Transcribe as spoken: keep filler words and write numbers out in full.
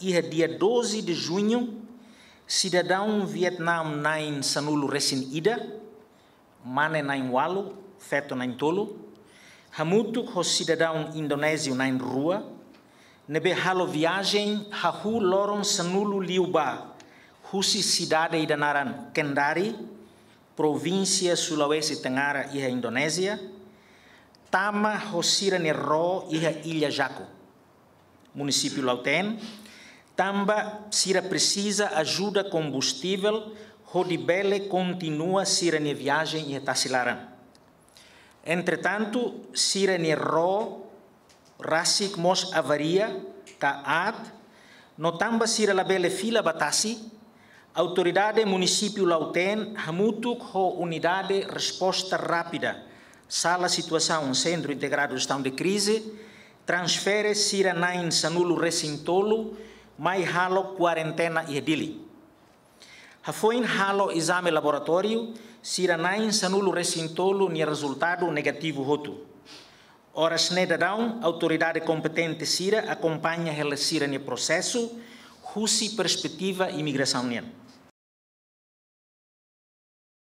Iha dia doze de junho, sidadaun Vietname na'in sanulu resin ida, mane na'in walu, feto na'in tolu, hamutuk ho sidadaun Indonéziu na'in rua, ne'ebé halo viajen hahú loron sanulu liubá, husi sidade ida naran Kendari, provínsia Sulawesi Tenggara iha Indonézia, tama ho sira-nia ró iha Illa Jaco, munisípiu Lautém, tanba sira presiza ajuda kombustivel hodi bele kontinua sira-nia viajen iha tasi laran. Entretantu, sira-nia ró rasik mós avaria ka aat, no tanba sira labele fila ba tasi, autoridade munisípiu Lautém hamutuk ho unidade resposta rápida, sala situasaun Sentru Integradu Jestaun de Krize, transfere sira na'in sanulu resin tolu mai halo kuarentena iha Dili. Hafoin halo ezame laboratóriu, sira na'in sanulu resin tolu nia rezultadu negativu hotu. Oras ne'e daudaun, autoridade kompetente sira akompaña hela sira-nia prosesu husi perspetiva imigrasaun nian.